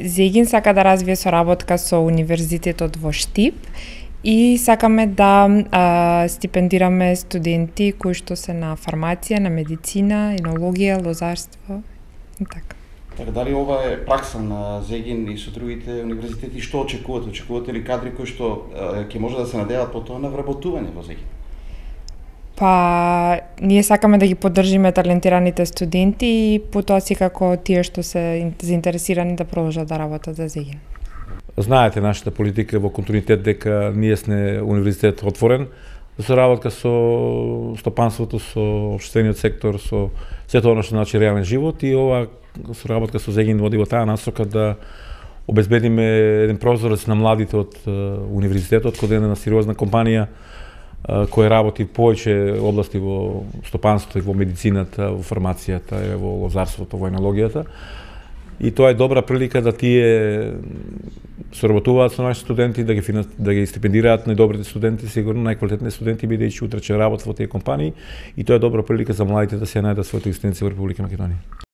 Зегин сака да развие соработка со Универзитетот во Штип и сакаме да стипендираме студенти кои што се на фармација, на медицина, енологија, лозарство и така. Така, дали ова е пракса на Зегин и со другите универзитети? Што очекувате? Очекувате ли кадри кои што ќе може да се надеваат потоа на вработување во Зегин? Па, ние сакаме да ги поддржиме талентираните студенти и потоа секако тие што се заинтересирани да продолжат да работат за Зегин. Знаете нашата политика во континуитет дека ние сме универзитет отворен за соработка со стопанството, со општествениот сектор, со сето она што значи реален живот, и ова соработка со Зегин води во таа насока да обезбедиме еден прозорец на младите од универзитетот, кој е една сериозна компанија која работи повеќе области во стопанството и во медицината, во фармацијата, во лозарството, во енологијата. И тоа е добра прилика да тие соработуваат со нашите студенти, да ги стипендираат најдобрите студенти, сигурно најквалитетни студенти, бидејќи утре ќе работат во тие компании, и тоа е добра прилика за младите да се најдат својата екзистенција во Република Македонија.